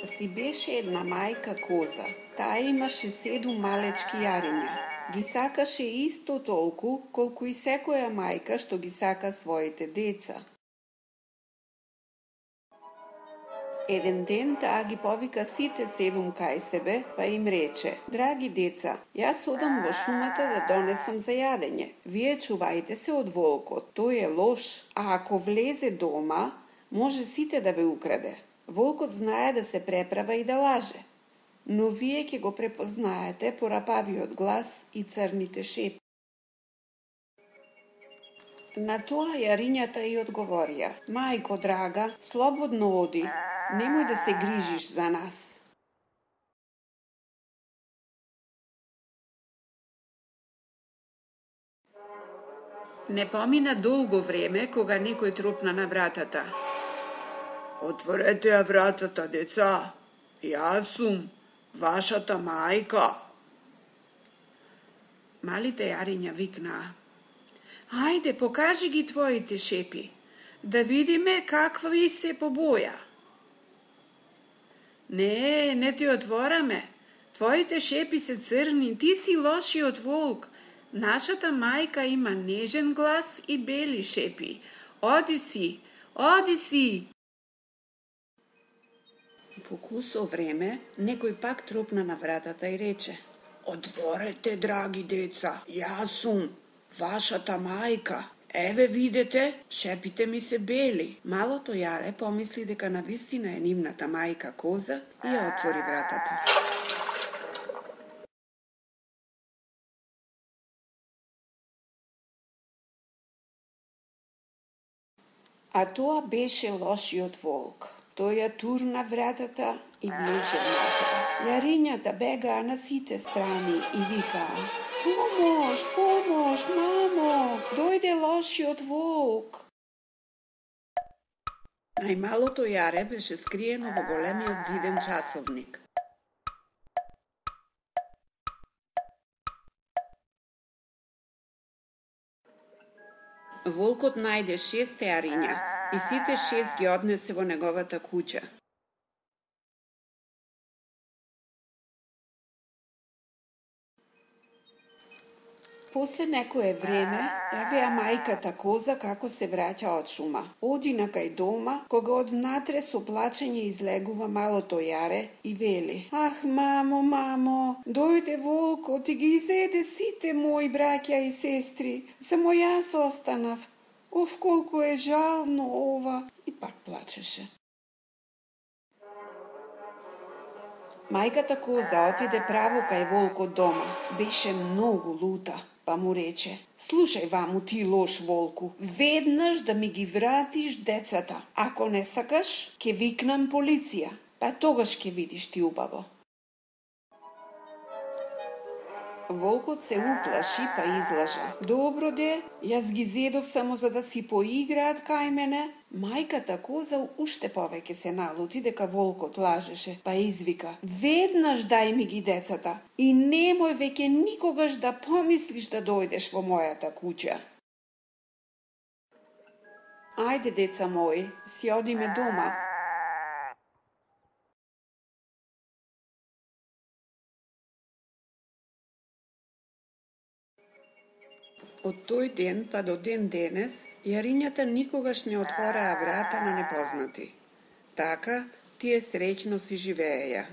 Си беше една мајка коза. Таа имаше 7 малечки јарења. Ги сакаше исто толку, колку и секоја мајка што ги сака своите деца. Еден ден таа ги повика сите 7 кај себе, па им рече: "Драги деца, јас одам во шумата да донесам за јадење. Вие чувајте се од волкот, тој е лош, а ако влезе дома, може сите да ве украде. Волкот знае да се преправа и да лаже, но вие ќе го препознаете по рапавиот глас и црните шепи." На тоа јарињата и одговорија: "Мајко драга, слободно оди, немој да се грижиш за нас." Не помина долго време кога некој тропна на вратата. "Отворете ја вратата, деца. Јас сум вашата мајка." Малите јариња викнаа: "Ајде, покажи ги твоите шепи, да видиме какви се по боја." Не ти отвораме. Твоите шепи се црни, ти си лошиот волк. Нашата мајка има нежен глас и бели шепи. Оди си. По кусо време, некој пак тропна на вратата и рече: "Отворете, драги деца, јас сум вашата мајка. Еве видете, шепите ми се бели." Малото јаре помисли дека навистина е нивната мајка коза и ја отвори вратата. А тоа беше лошиот волк. Тој ја турна вратата и влезе внатре. Јарињата бегаа на сите страни и викаа: Помош, мамо, дојде лошиот волк." Најмалото јаре беше скриено во големиот зиден часовник. Волкот најде 6 јариња и сите 6 ги однесе во неговата куќа. После некое време, јавија мајката коза како се враќа од шума. Оди накај дома, кога однатре со плачење излегува малото јаре и вели: "Ах, мамо, дојде волкот и ги изеде сите мои браќа и сестри. Само јас останав. Оф, колку е жално ова." И пак плачеше. Мајката коза отиде право кај волкот дома. Беше многу лута. Па му рече: "Слушај ваму ти лош волку, веднаш да ми ги вратиш децата. Ако не сакаш, ќе викнам полиција, па тогаш ќе видиш ти убаво." Волкот се уплаши па излажа: "Добро де, јас ги зедов само за да си поиграат кај мене." Мајката коза уште повеќе се налути дека волкот лажеше, па извика: "Веднаш дај ми ги децата и немој веќе никогаш да помислиш да дојдеш во мојата куќа." "Ајде, деца мои, си одиме дома." Од тој ден па до ден денес, јарињата никогаш не отвораа врата на непознати. Така, тие среќно си живееја.